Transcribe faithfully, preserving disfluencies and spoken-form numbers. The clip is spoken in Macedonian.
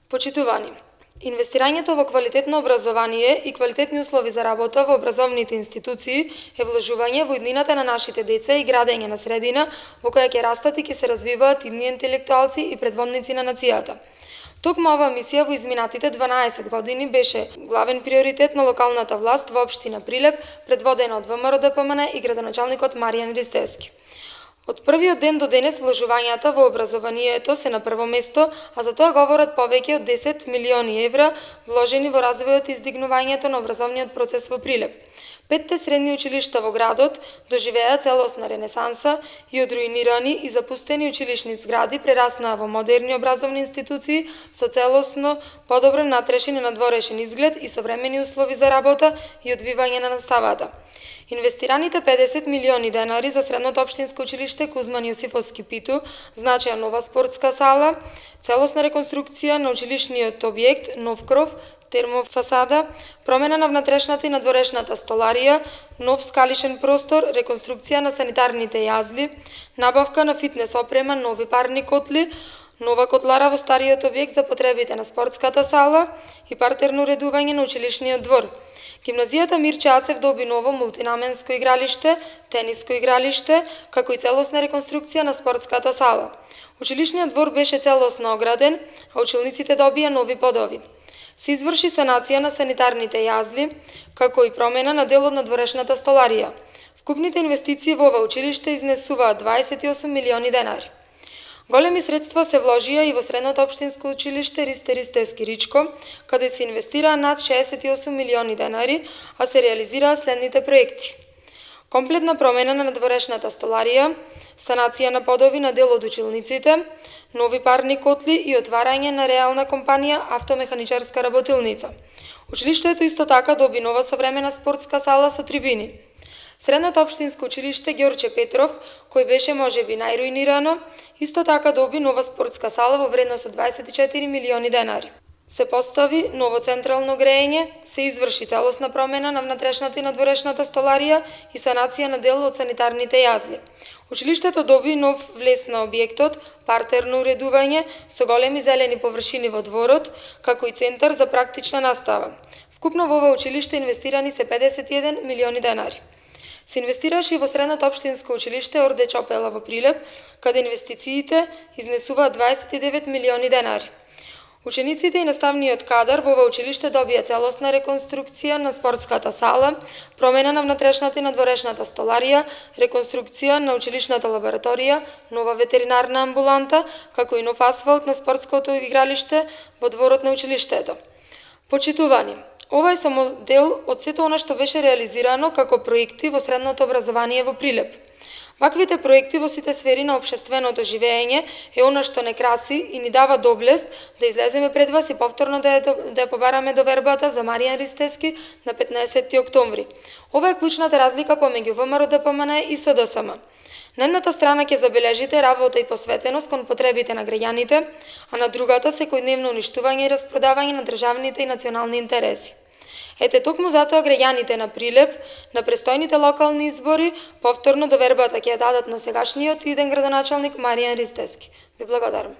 Почитувани, инвестирањето во квалитетно образование и квалитетни услови за работа во образовните институции е вложување во иднината на нашите деца и градење на средина во која ќе растат и ќе се развиваат идни интелектуалци и предводници на нацијата. Токму оваа мисија во изминатите дванаесет години беше главен приоритет на локалната власт во општина Прилеп, предводена од ВМРО-ДПМН и градоначалникот Маријан Ристевски. Од првиот ден до денес вложувањата во образованието се на прво место, а за тоа говорат повеќе од десет милиони евра вложени во развојот и издигнувањето на образовниот процес во Прилеп. Петте средни училишта во градот доживеа целосна ренесанса и од руинирани и запустени училишни згради прераснаа во модерни образовни институции со целосно подобрен натрешен и надворешен изглед и современи услови за работа и одвивање на наставата. Инвестираните педесет милиони денари за средното општинско училиште Кузман Јосифовски Питу значеа нова спортска сала, целосна реконструкција на училишниот објект, нов кров, термофасада, промена на внатрешната и надворешната столарија, нов скалишен простор, реконструкција на санитарните јазли, набавка на фитнес опрема, нови парни котли, нова котлара во стариот објект за потребите на спортската сала и партерно уредување на училишниот двор. Гимназијата Мирче Ацев доби ново мултинаменско игралиште, тениско игралиште, како и целосна реконструкција на спортската сала. Училишниот двор беше целосно ограден, а учениците добија нови подови. Се изврши санација на санитарните јазли, како и промена на дел од надворешната столарија. Вкупните инвестиции во ова училиште изнесуваат дваесет и осум милиони денари. Големи средства се вложија и во средното општинско училиште Ристе Ристевски Ричко, каде се инвестираа над шеесет и осум милиони денари, а се реализираа следните проекти: комплетна промена на надворешната столарија, санација на подови на дел од училниците, нови парни котли и отварање на реална компанија автомеханичарска работилница. Училиштето исто така доби нова современа спортска сала со трибини. Средното општинско училиште Ѓорче Петров, кој беше можеби најруинирано, исто така доби нова спортска сала во вредност од дваесет и четири милиони денари. Се постави ново централно грејење, се изврши целосна промена на внатрешната и надворешната столарија и санација на дел од санитарните јазли. Училиштето доби нов влез на објектот, партерно уредување со големи зелени површини во дворот, како и центар за практична настава. Вкупно во ова училиште инвестирани се педесет и еден милиони денари. Се инвестираше и во средното општинско училиште Орде Чопела во Прилеп, каде инвестициите изнесуваат дваесет и девет милиони денари. Учениците и наставниот кадар во ова училиште добија целосна реконструкција на спортската сала, промена на внатрешната и надворешната столарија, реконструкција на училишната лабораторија, нова ветеринарна амбуланта, како и нов асфалт на спортското игралиште во дворот на училиштето. Почитувани, ова е само дел од сето она што беше реализирано како проекти во средното образование во Прилеп. Ваквите проекти во сите сфери на општественото живење е она што не краси и ни дава доблест да излеземе пред вас и повторно да ја, да ја побараме довербата за Маријан Ристевски на петнаесетти октомври. Ова е клучната разлика помеѓу ВМРО-ДПМН и СДСМ. На едната страна ќе забележите работа и посветеност кон потребите на граѓаните, а на другата секојдневно уништување и распродавање на државните и национални интереси. Ете, токму затоа граѓаните на Прилеп, на престојните локални избори, повторно довербата ќе ја дадат на сегашниот иден градоначалник Маријан Ристевски. Ви благодарам.